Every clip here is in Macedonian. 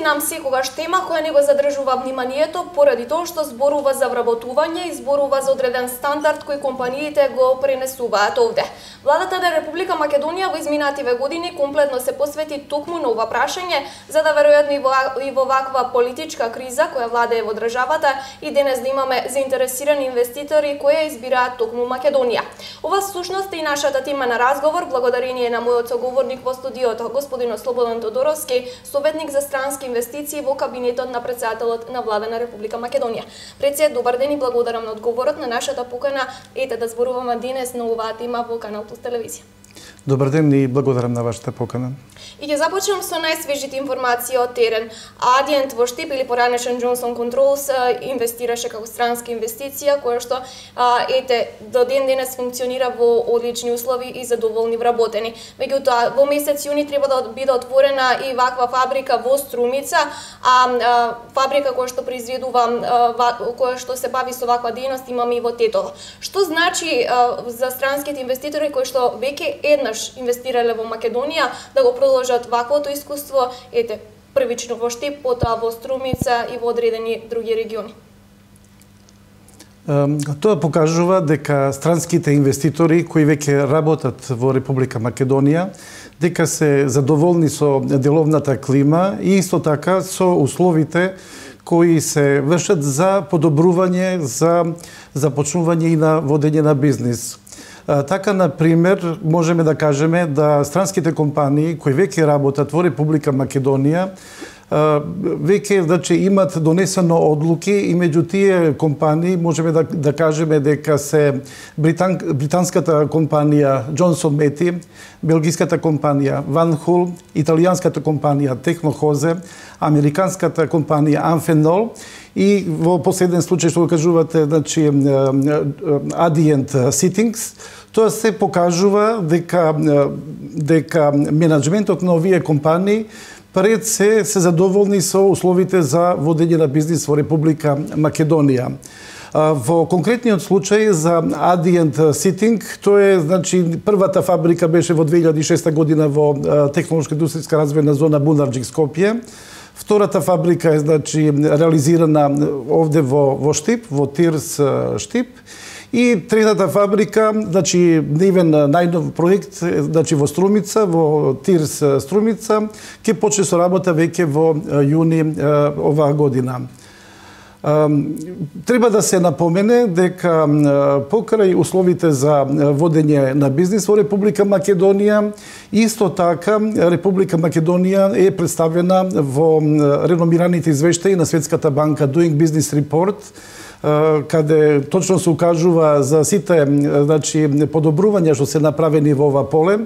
нам секогаш тема која не го задржува вниманието поради тоа што зборува за вработување и зборува за одреден стандард кој компаниите го пренесуваат овде. Владата на Република Македонија во изминативе години комплетно се посвети токму на ова прашање, за да веројатно и во ваква политичка криза која владее во државата и денес да имаме заинтересирани инвеститори кои избираат токму Македонија. Ова всушност е и нашата тема на разговор, благодарение на мојот соговорник во студиото, господин Слободан Тодоровски, советник за странски инвестиции во кабинетот на претседателот на Влада на Република Македонија. Председ, добар ден и благодарам на одговорот на нашата покана. Ете да зборуваме денес на оваа тема во Канал Плюс телевизија. Добар ден и благодарам на вашата покана. И ќе започнем со најсвежите информации од терен. Адиент во Штип или поранешен Джонсон Контролс инвестираше како странска инвестиција, која што до ден денес функционира во одлични услови и задоволни вработени. Меѓутоа, во месец јуни треба да биде отворена и ваква фабрика во Струмица, фабрика која што произведува, која што се бави со ваква дејност имаме и во Тетово. Што значи за странските инвеститори кои што веќе еднаш инвестирале во Македонија да го продолжат ваквото искуство, првично во Штип, потоа во Струмица и во одредени други региони? Тоа покажува дека странските инвеститори кои веќе работат во Република Македонија, дека се задоволни со деловната клима и исто така со условите кои се вршат за подобрување, за започнување и на водење на бизнис. Така, например, можеме да кажеме да странските компании кои веќе работат во Република Македонија веќе имат донесено одлуки и меѓу тие компании можеме да кажеме дека се британската компанија Джонсон Мети, белгиската компанија Ван Хул, италијанската компанија Технохозе, американската компанија Амфенол и во последен случај што го кажувате, Adient Sittings. Тоа се покажува дека менеджментот на овие компании пред се задоволни со условите за водење на бизнис во Република Македонија. Во конкретниот случај за Adient Sitting, тоа е, првата фабрика беше во 2006 година во технолошко-индустријска развојна зона Бунарџик Скопје. Втората фабрика е реализирана овде во Штип, во Тирс Штип. И третата фабрика, нивен најнов проект, во Струмица, во Тирс Струмица, ќе почне со работа веќе во јуни оваа година. Треба да се напомене дека покрај условите за водење на бизнис во Република Македонија, исто така Република Македонија е представена во реномираните извештаи на Светската банка Doing Business Report, каде точно се укажува за сите подобрувања што се направени во ова поле,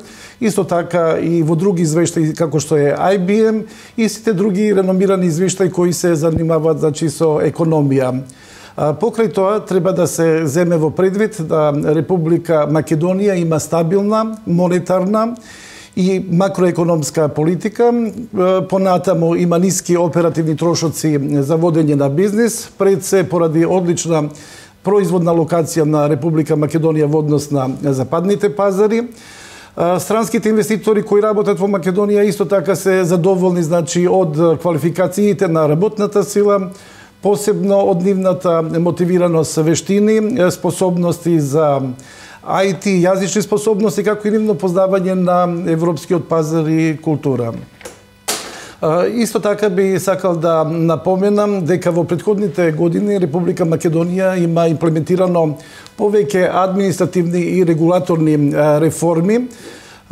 исто така и во други извештаи како што е IBM и сите други реномирани извештаи кои се занимаваат со економија. Покрај тоа треба да се земе во предвид да Република Македонија има стабилна монетарна и макроекономска политика, понатаму има ниски оперативни трошоци за водење на бизнис, пред се поради одлична производна локација на Република Македонија во однос на западните пазари. Странските инвеститори кои работат во Македонија исто така се задоволни од квалификациите на работната сила, посебно од нивната мотивираност, вештини, способности за IT, јазични способности, како и нивно познавање на европскиот пазар и култура. Исто така би сакал да напоменам дека во претходните години Република Македонија има имплементирано повеќе административни и регулаторни реформи.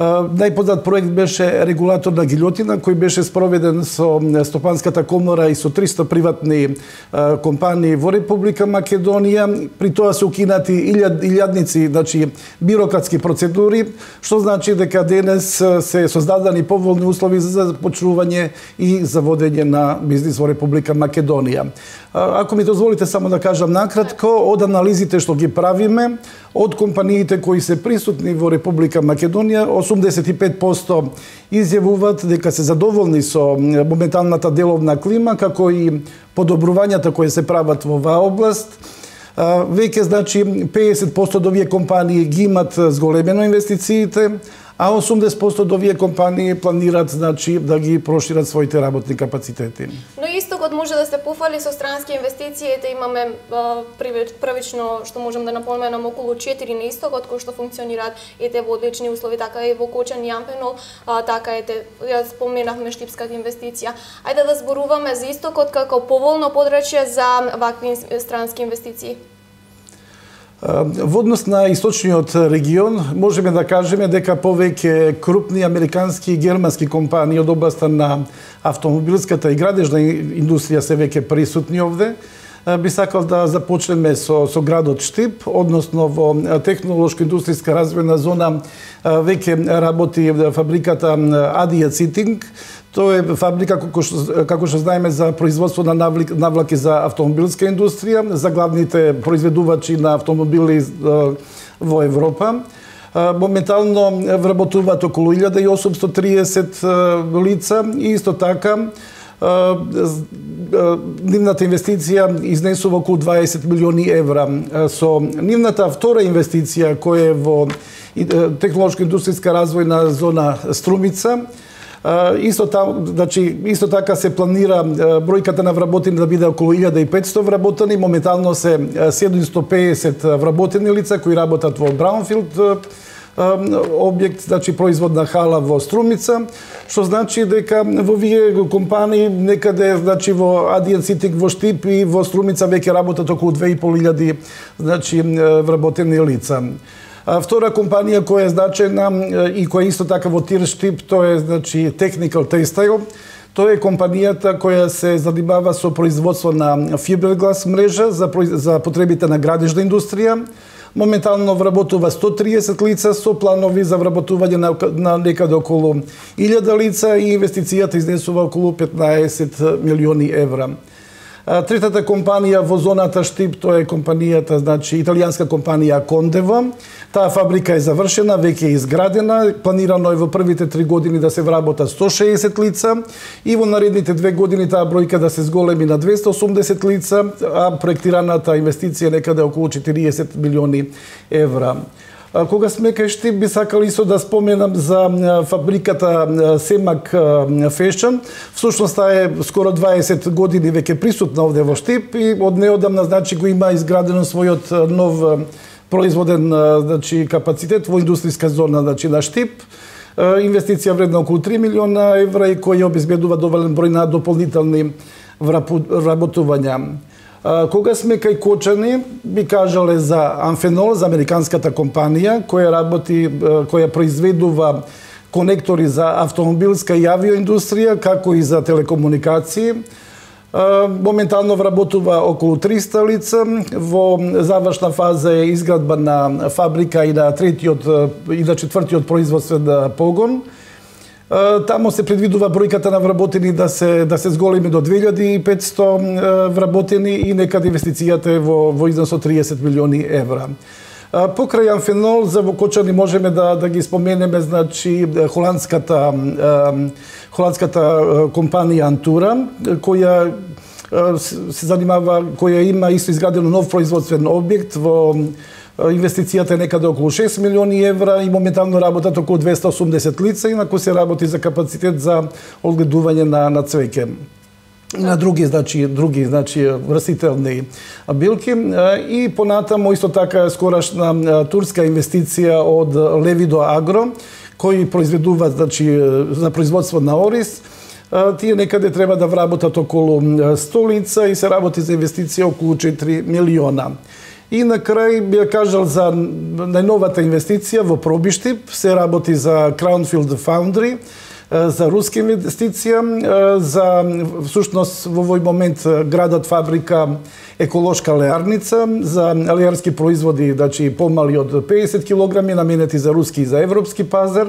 Најпознат проект беше регулаторна гилјотина кој беше спроведен со Стопанската комора и со 300 приватни компании во Република Македонија. При тоа се укинати илјадници бирократски процедури, што значи дека денес се создадени поволни услови за започнување и за водење на бизнис во Република Македонија. Ако ми дозволите само да кажам накратко, од анализите што ги правиме, од компаниите кои се присутни во Република Македонија, 85% изјавуваат дека се задоволни со моменталната деловна клима, како и подобрувањата кои се прават во оваа област. Веќе 50% од овие компании ги имат зголемено инвестициите, а 80% од овие компании планираат значи да ги прошират своите работни капацитети. Но истокот може да се пофали со странски инвестиции, имаме првично што можам да напоменам околу 4 на истокот кои што функционираат во одлични услови, така и во Кочан и Амфенол, така ја споменавме штипската инвестиција. Ајде да зборуваме за истокот како поволно подрачје за вакви странски инвестиции. Во однос на источниот регион, можеме да кажеме дека повеќе крупни американски и германски компании од областа на автомобилската и градежна индустрија се веќе присутни овде. Би сакал да започнеме со градот Штип, односно во технолошко-индустријска развојна зона веќе работи фабриката Адија Цитинг. Тоа е фабрика, како што знаеме, за производство на навлаки за автомобилска индустрија, за главните произведувачи на автомобили во Европа. Моментално вработуваат околу 1830 лица и исто така нивната инвестиција изнесува околу 20 милиони евра. Со нивната втора инвестиција која е во технолошко-индустријска развојна зона Струмица, исто така се планира бројката на вработени да биде околу 1500 вработени, моментално се 750 вработени лица кои работат во Браунфилд објект, значи производна хала во Струмица, што значи дека во овие компании некаде, значи во Адија Цитинг во Штип и во Струмица веќе работат околу 2500 значи вработени лица. Втора компанија која е значајна и која исто така во Тир Штип, тоа е значи Technical Textile. Тоа е компанијата која се занимава со производство на фиберглас мрежа за потребите на градежна индустрија. Моментално вработува 130 лица со планови за вработување на некаде околу 1000 лица и инвестицијата изнесува околу 15 милиони евра. Третата компанија во зоната Штип, тоа е компанијата, значи италијанска компанија Кондева. Таа фабрика е завршена, веќе е изградена, планирано е во првите 3 години да се вработат 160 лица и во наредните 2 години таа бројка да се зголеми на 280 лица, а проектираната инвестиција некаде околу 40 милиони евра. Кога сме кај Штип, би сакал исто да споменам за фабриката Семак Фешн. Всушност таа е скоро 20 години веќе присутна овде во Штип и од неодамна значи го има изградено својот нов производен значи капацитет во индустријска зона значи на Штип. Инвестиција вредна околу 3 милиона евра и која обезбедува доволен број на дополнителни вработувања. Кога сме кај Кочани, би кажале за Амфенол, за американската компанија која произведува конектори за автомобилска и авиоиндустрија, како и за телекомуникации. Моментално вработува околу 300 лица. Во завршна фаза е изградба на фабрика и на четвртиот производствен погон. Тамо се предвидува бројката на вработени да се зголеми до 2500 вработени и некаде инвестицијата е во износ од 30 милиони евра. Покрај Амфенол, за во Кочани можеме да ги споменеме, значи, холандската компанија Антура, која се занимава, која има исто изградено нов производствен објект во инвестицијата е некаде околу 6 милиони евра и моментално работат околу 280 лица, инаку се работи за капацитет за одгледување на цвеќе и на други растителни билки. И понатамо исто така скорашна турска инвестиција од Левидо Агро, кои произведуваат за производство на ориз. Тие некаде треба да вработат околу 100 лица и се работи за инвестиција околу 4 милиона. И на крај би кажал за најновата инвестиција во Пробиштип, се работи за Crownfield Foundry, за руска инвестиција, за всушност во овој момент градат фабрика еколошка леарница за леарски производи, значи помали од 50 килограми, наменети за руски и за европски пазар.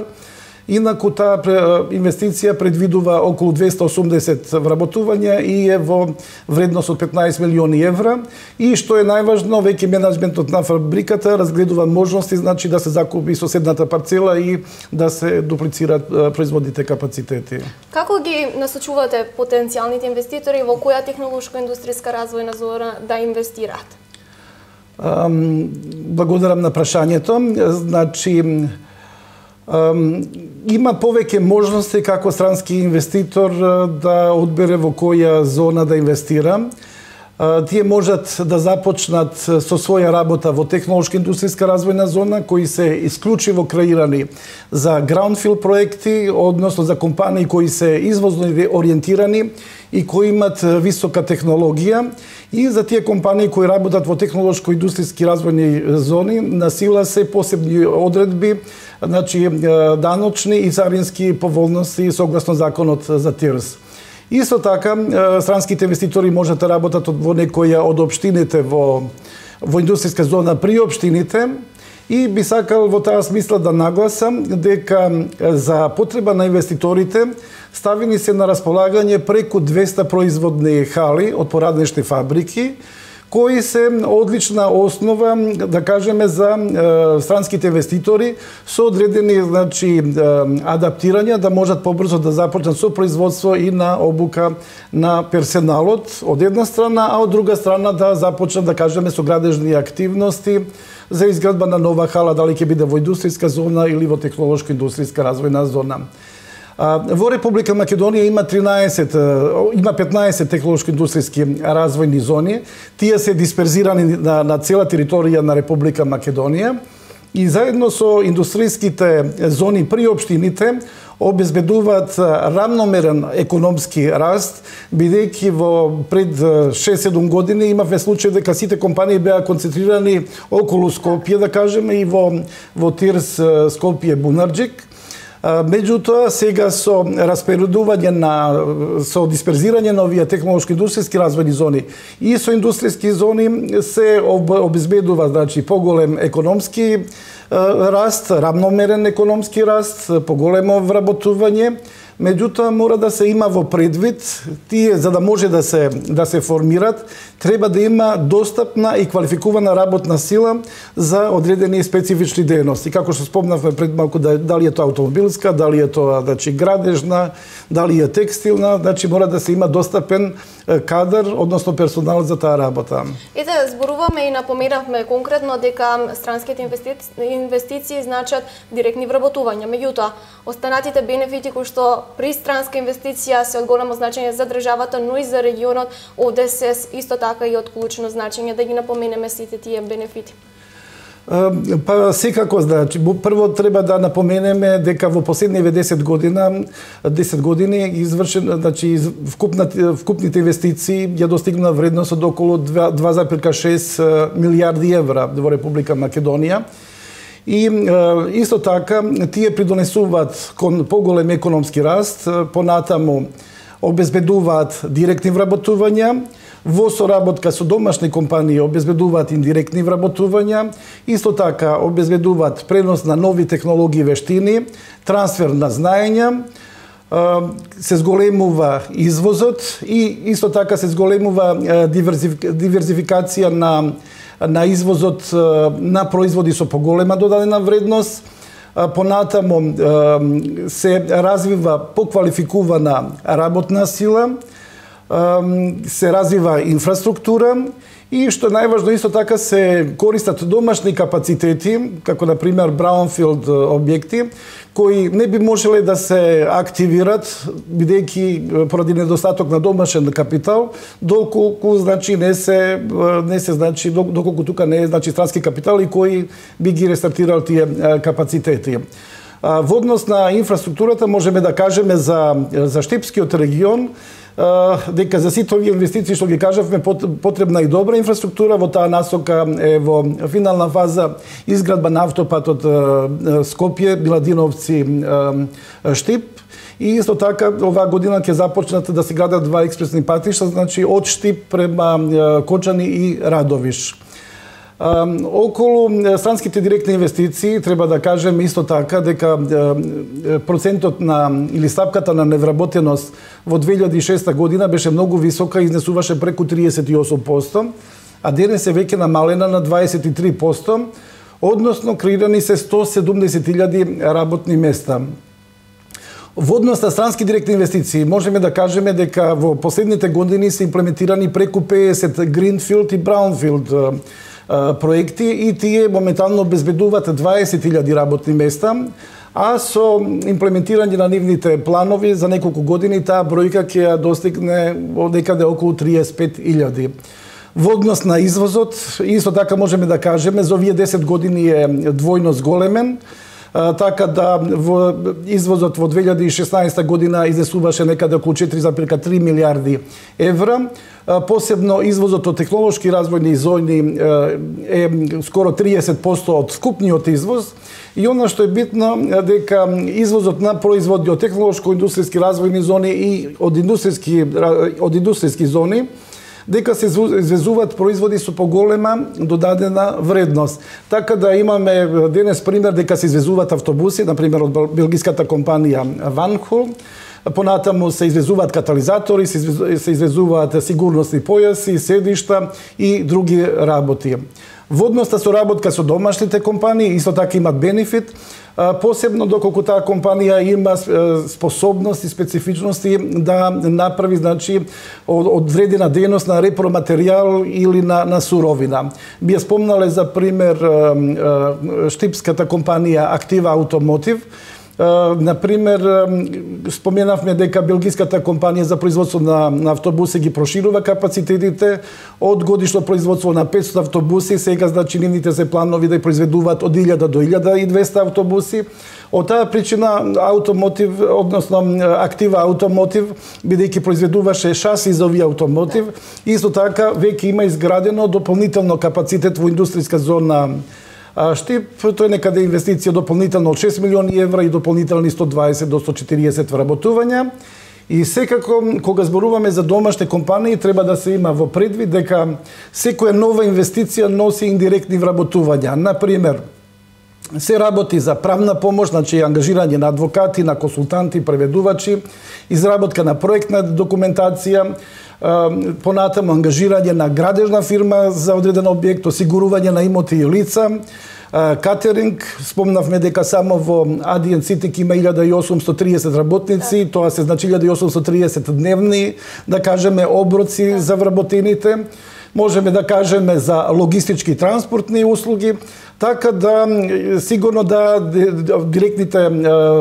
Инаку таа инвестиција предвидува околу 280 вработувања и е во вредност од 15 милиони евра. И што е најважно, веќе менаџментот на фабриката разгледува можности, значи да се закупи соседната парцела и да се дуплицираат производните капацитети. Како ги насочувате потенцијалните инвеститори во која технолошко-индустријска развојна зона да инвестираат? Благодарам на прашањето. Значи, Има повеќе можности како странски инвеститор да одбере во која зона да инвестира. Тие можат да започнат со своја работа во технолошка индустријска развојна зона, кои се исклучиво креирани за граундфилд проекти, односно за компании кои се извозно ориентирани и кои имат висока технологија. И за тие компании кои работат во технолошко-индустријски развојни зони, на сила се посебни одредби, значи даночни и царински поволности согласно законот за ТИРС. Исто така, странските инвеститори можат да работат во некоја од општините во индустријска зона при општините и би сакал во таа смисла да нагласам дека за потреба на инвеститорите ставени се на располагање преку 200 производни хали од пораднични фабрики, кои се одлична основа, да кажеме, за странските инвеститори со одредени, значи, адаптирања да можат побрзо да започнат со производство и на обука на персоналот од една страна, а од друга страна да започнат, да кажеме, со градежни активности за изградба на нова хала, дали ќе биде во индустријска зона или во технолошко-индустријска развојна зона. Во Република Македонија има 15 технолошко-индустријски развојни зони. Тие се дисперзирани на цела територија на Република Македонија и заедно со индустријските зони при општините обезбедуваат рамномерен економски раст, бидејќи во пред 6-7 години имавме случај дека сите компании беа концентрирани околу Скопје, да кажеме, и во ТИРС Скопје Бунарџик. Меѓутоа, сега со распоредување со дисперзирање на овие технолошко-индустријски развојни зони и со индустријски зони се обезбедува, значи, поголем економски раст, рамномерен економски раст, поголемо вработување. Меѓутоа, мора да се има во предвид, тие за да може да се формират, треба да има достапна и квалификувана работна сила за одредени специфични дејности. Како што спомнавме пред малку, дали е тоа автомобилска, дали е тоа, значи, градежна, дали е текстилна, значи мора да се има достапен кадар, односно персонал за таа работа. Ете, зборуваме и напоменавме конкретно дека странските инвестиции значат директни вработувања. Меѓутоа, останатите бенефити кои што при странска инвестиција се од големо значење за државата, но и за регионот, овде се исто така и од клучно значење, да ги напоменеме сите тие бенефити. Па секако, значи, прво треба да напоменеме дека во последниве 10 години извршен, значи, вкупните инвестиции ја достигна вредност од околу 2,6 милијарди евра во Република Македонија. И исто така тие придонесуваат кон поголем економски раст, понатаму обезбедуваат директни вработувања, во соработка со домашни компании обезбедуваат индиректни вработувања, исто така обезбедуваат пренос на нови технологии и вештини, трансфер на знаења, се зголемува извозот и исто така се зголемува диверзификација на извозот на производи со поголема додадена вредност. Понатаму се развива поквалификувана работна сила, се развива инфраструктура и што најважно исто така се користат домашни капацитети, како на пример браунфилд објекти, кои не би можеле да се активират бидејќи поради недостаток на домашен капитал, доколку значи не се значи доколку тука не е значи странски капитал и кои би ги рестартирал тие капацитети. Во однос на инфраструктурата можеме да кажеме за Штипскиот регион дека за сите овие инвестиции што ги кажавме потребна и добра инфраструктура. Во таа насока е во финална фаза изградба на автопатот Скопје, Биладиновци, Штип. И исто така оваа година ќе започнат да се градат 2 експресни патишта, значи од Штип према Кочани и Радовиш. Околу странските директни инвестиции треба да кажеме исто така дека процентот или стапката на невработеност во 2006 година беше многу висока, изнесуваше преку 38%, а денес е веќе намалена на 23%, односно креирани се 170.000 работни места. Во однос на странски директни инвестиции можеме да кажеме дека во последните години се имплементирани преку 50 гринфилд и браунфилд проекти и тие моментално обезбедуваат 20.000 работни места, а со имплементирање на нивните планови за неколку години таа бројка ќе ја достигне некаде околу 35.000. Во однос на извозот, исто така можеме да кажеме, за овие 10 години е двојно зголемен, така да во извозот во 2016 година изнесуваше некаде околу 4,3 милиарди евра. Посебно извозот од технолошки развојни зони е скоро 30% од вкупниот извоз. И она што е битно дека извозот на производи од технолошко-индустријски развојни зони и од индустријски зони дека се извезуваат производи со поголема додадена вредност. Така да имаме денес пример дека се извезуваат автобуси, например од белгиската компанија Ванхол, понатаму се извезуваат катализатори, се извезуваат сигурносни појаси, седишта и други работи. Во однос на соработка со домашните компании, исто така имат бенефит, посебно доколку таа компанија има способност и специфичности да направи, значи, одредена дејност на repроматеријал или на суровина. Би ја спомнале за пример штипската компанија Актива Автомотив. Например, споменавме дека белгиската компанија за производство на автобуси ги проширува капацитетите од годишно производство на 500 автобуси, сега значи нивните се планови да произведуваат од 1000 до 1200 автобуси. Од таа причина Автомотив, односно Актива Автомотив, бидејќи произведуваше шаси за овие автомотив, исто така веќе има изградено дополнително капацитет во индустријска зона Штип, тој некаде инвестиција дополнително од 6 милиони евра и дополнителни 120 до 140 вработувања. И секако, кога зборуваме за домашни компании, треба да се има во предвид дека секоја нова инвестиција носи индиректни вработувања. Например, се работи за правна помош, значи ангажирање на адвокати, на консултанти, преведувачи, изработка на проектна документација, понатаму ангажирање на градежна фирма за одреден објект, осигурување на имоти и лица, катеринг, спомнавме дека само во Адиен Ситик има 1830 работници, тоа се значи 1830 дневни, да кажеме, оброци за вработените. Можеме да кажеме за логистички транспортни услуги, така да сигурно да директните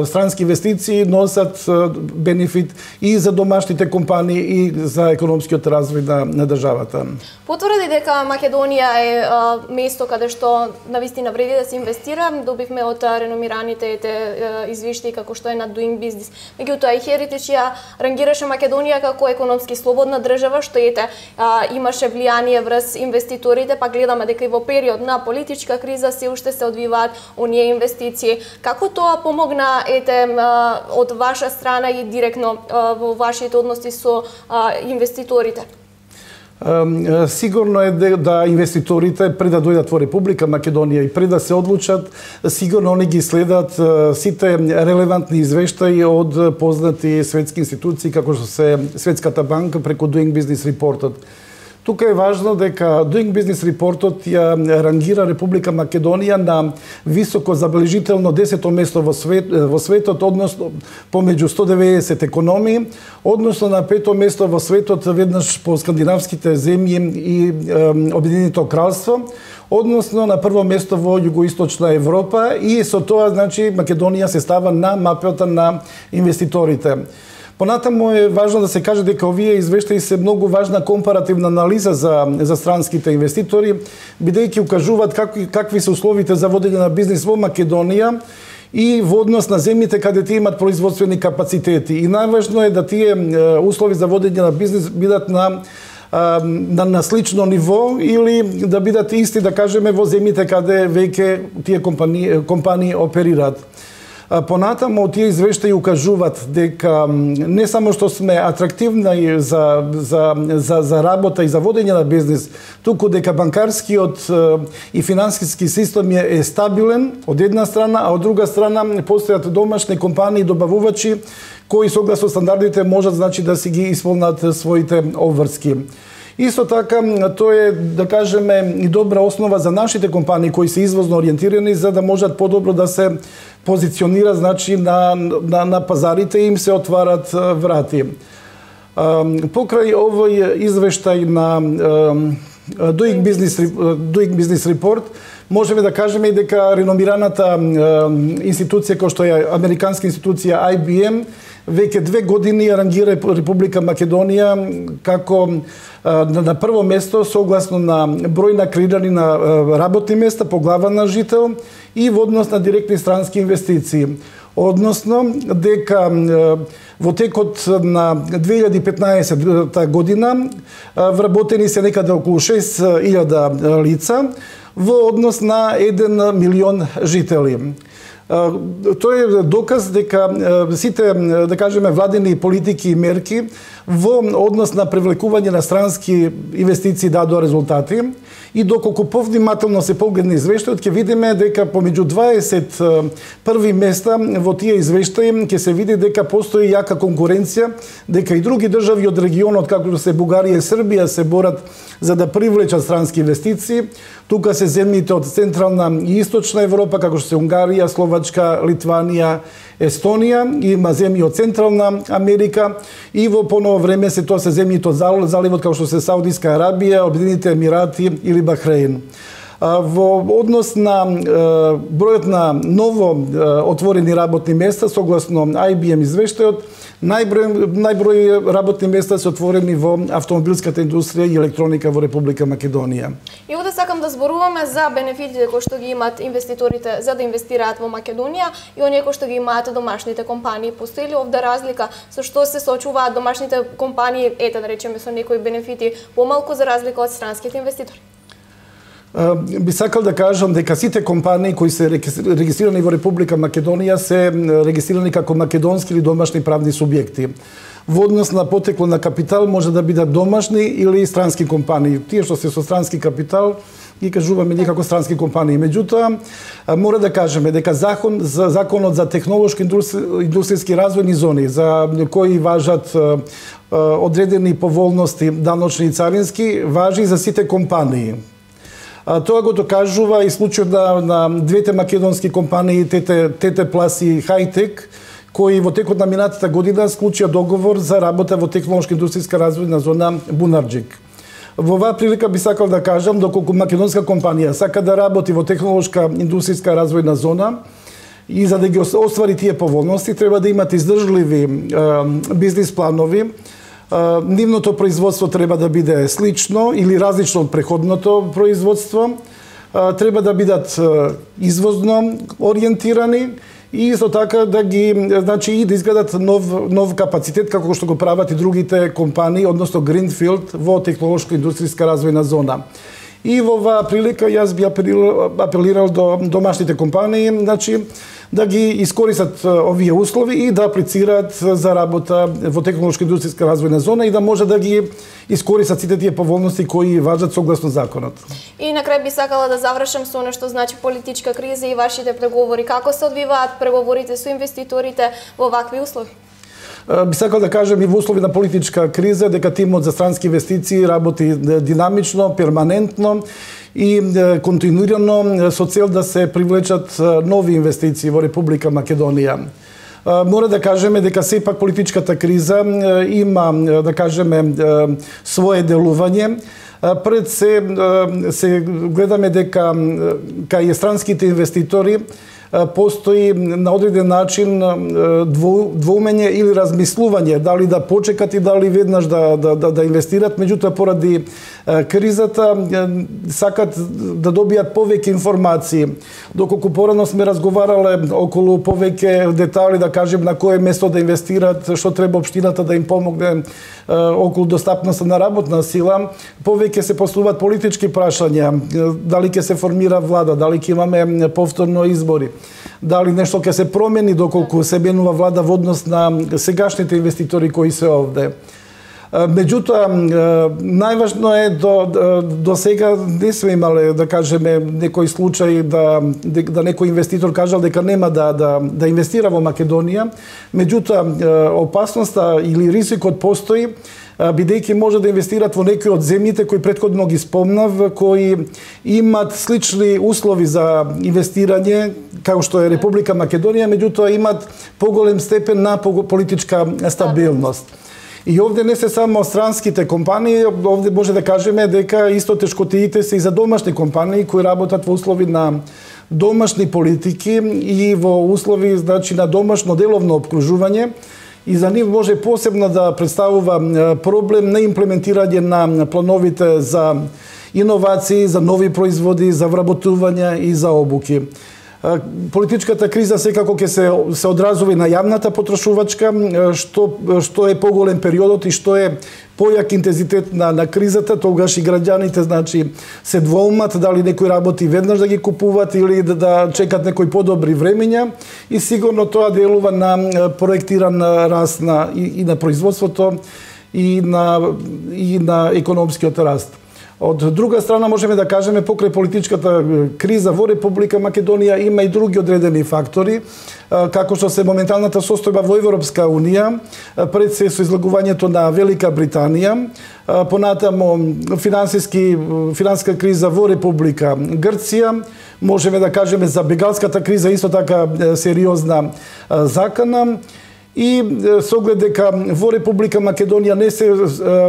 странски инвестиции носат бенефит и за домашните компании и за економскиот развој на државата. Потврди дека Македонија е место каде што навистина вреди да се инвестира. Добивме од реномираните извештаи како што е на Doing Business. Меѓутоа и Heritage ја рангираше Македонија како економски слободна држава, што имаше влијание врз инвеститорите, па гледаме дека и во период на политичка криза се уште се одвиваат оние инвестиции. Како тоа помогна од ваша страна и директно во вашите односи со инвеститорите? Сигурно е да инвеститорите пред да дојдат во Република Македонија и пред да се одлучат, сигурно они ги следат сите релевантни извештаи од познати светски институции како што се Светската банка преку Doing Business Report-от. Тука е важно дека Doing Business Report-от ја рангира Република Македонија на високо забележително 10-то место во светот, односно помеѓу 190 економии, односно на 5-то место во светот веднаш по скандинавските земји и Обединетото кралство, односно на прво место во југоисточна Европа, и со тоа значи Македонија се става на мапата на инвеститорите. Понатаму е важно да се каже дека овие извештаи се многу важна компаративна анализа за странските инвеститори, бидејќи укажуваат какви се условите за водење на бизнис во Македонија и во однос на земјите каде тие имат производствени капацитети. И најважно е да тие услови за водење на бизнис бидат на слично ниво или да бидат исти, да кажеме, во земјите каде веќе тие компании оперираат. Понатаму тие извештаи укажуваат дека не само што сме атрактивни за работа и за водење на бизнис, туку дека банкарскиот и финансиски систем е стабилен од една страна, а од друга страна постојат домашни компании и добавувачи кои согласно стандардите можат, значи, да си ги исполнат своите обврски. Исто така, тоа е, да кажеме, и добра основа за нашите компании кои се извозно ориентирани, за да можат подобро да се позиционира, значи, на пазарите и им се отварат врати. Покрај овој извештај на Doing Business Report, можеме да кажеме и дека реномираната институција кој што е американска институција IBM веќе 2 години ја рангира Република Македонија како на прво место согласно на број на креирани на работни места по глава на жител и во однос на директни странски инвестиции. Односно дека во текот на 2015 година вработени се некаде околу 6.000 лица во однос на 1 милион жители. Тоа е доказ дека сите, да кажеме, владени политики и мерки во однос на привлекување на странски инвестиции дадоа резултати и доколку повнимателно се погледне извештајот, ќе видиме дека помеѓу 20 први места во тие извештаи ќе се види дека постои јака конкуренција, дека и други држави од регионот, како се Бугарија и Србија, се борат за да привлечат странски инвестиции. Тука се земјите од Централна и Источна Европа, како што се Унгарија, Словачка, Литванија, Естонија, има земји од Централна Америка и во поново време се тоа се земјите од заливот, како што се Саудиска Арабија, Обединените Емирати или Бахрейн. Во однос на бројот на ново отворени работни места, согласно IBM извештајот, најброј работни места се отворени во автомобилската индустрија и електроника во Република Македонија. И овде сакам да зборуваме за бенефитите кои што ги имаат инвеститорите за да инвестираат во Македонија и оние кои што ги имаат домашните компании. Постои ли овде разлика со што се соочуваат домашните компании, да речеме, со некои бенефити помалку за разлика од странските инвеститори? Би сакал да кажам дека сите компании кои се регистрирани во Република Македонија се регистрирани како македонски или домашни правни субјекти. Во однос на потекло на капитал може да бидат домашни или странски компании. Тие што се со странски капитал ги кажуваме ние како странски компании. Меѓутоа, мора да кажеме дека законот за технолошки индустријски развојни зони, за кои важат одредени поволности даночни и царински, важи за сите компании. Тоа го докажува и случајот на двете македонски компании ТТ Плас и Хайтек, кои во текот на минатата година склучија договор за работа во технолошка индустријска развојна зона Бунарџик. Во оваа прилика би сакал да кажам, доколку македонска компанија сака да работи во технолошка индустријска развојна зона и за да ги оствари тие поволности, треба да имат издржливи бизнис планови. Нивното производство треба да биде слично или различно од преходното производство. Треба да бидат извозно ориентирани и исто така да ги, значи, и да изградат нов капацитет како што го прават и другите компании, односно Greenfield во технолошко индустријска развојна зона. И во оваа прилика јас би апелирал до домашните компании, значи, да ги искористат овие услови и да аплицираат за работа во технолошка индустријска развојна зона и да може да ги искористат сите тие поволности кои важат согласно законот. И на крај би сакала да завршам со нешто значи политичка криза и вашите преговори. Како се одвиваат преговорите со инвеститорите во вакви услови? Би сакал да кажем и во услови на политичка криза дека тимот за странски инвестиции работи динамично, перманентно и континуирано со цел да се привлечат нови инвестиции во Република Македонија. Мора да кажеме дека сепак политичката криза има, да кажеме, свое делување. Пред се гледаме дека кај странските инвеститори постои на одреден начин двоумење или размислување дали да почекат и дали веднаш да инвестират, меѓутоа поради кризата сакат да добијат повеќе информации. Доколку порано сме разговарале околу повеќе детали, да кажем на кое место да инвестират, што треба општината да им помогне околу достапноста на работна сила, повеќе се поставуваат политички прашања, дали ќе се формира влада, дали ќе имаме повторно избори, дали нешто ќе се промени доколку се менува влада во однос на сегашните инвеститори кои се овде. Меѓутоа, најважно е до сега не сме имале, да кажеме, некој случај да некој инвеститор кажал дека нема да инвестира во Македонија. Меѓутоа, опасноста или ризикот постои, бидејќи може да инвестират во некои од земјите кои претходно ги спомнав, кои имат слични услови за инвестирање, како што е Република Македонија, меѓутоа имат поголем степен на политичка стабилност. И овде не се само странските компании, овде може да кажеме дека исто тешкотиите се и за домашни компании кои работат во услови на домашни политики и во услови значи на домашно деловно обкружување. И за нив може посебно да представува проблем на имплементирање на плановите за иновации, за нови производи, за вработување и за обуки. Политичката криза секако ќе се одразува и на јавната потрошувачка, што е поголем периодот и што е појак интензитет на кризата, тогаш и граѓаните значи се двоумат дали некој работи веднаш да ги купуваат или да чекат некои подобри времења и сигурно тоа делува на проектиран раст и на производството и на економскиот раст. Од друга страна можеме да кажеме покрај политичката криза во Република Македонија има и други одредени фактори, како што се моменталната состојба во Европска Унија, пред се со излагувањето на Велика Британија, понатаму финансиска криза во Република Грција, можеме да кажеме за бегалската криза исто така сериозна закана. И со оглед дека во Република Македонија не се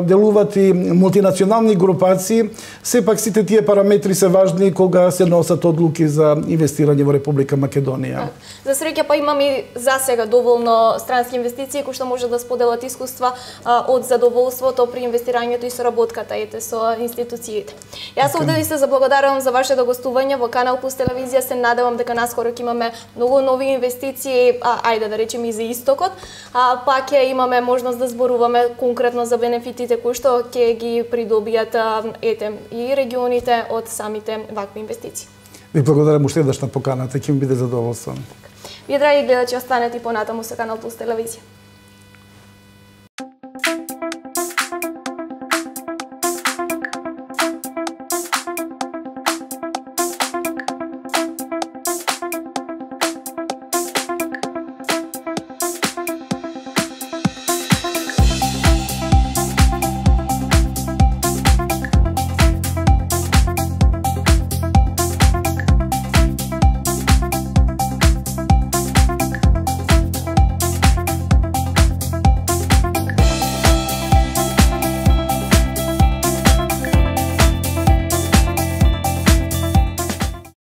делуваат и мултинационални групации, сепак сите тие параметри се важни кога се носат одлуки за инвестирање во Република Македонија. За среќа па имаме и засега доволно странски инвестиции кои што може да споделат искуства од задоволството при инвестирањето и соработката со институциите. Јас овде ви се заблагодарувам за вашето гостување во Канал Плюс телевизија. Се надевам дека наскоро ќе имаме многу нови инвестиции, ајде да речеме и за истокот. Па ќе имаме можност да зборуваме конкретно за бенефитите кои што ќе ги придобијат и регионите од самите вакви инвестиции. Ви благодарам уште еднаш на поканата, ќе ми биде задоволство. Вие, драги гледачи, останете и понатаму со Канал Плюс телевизија.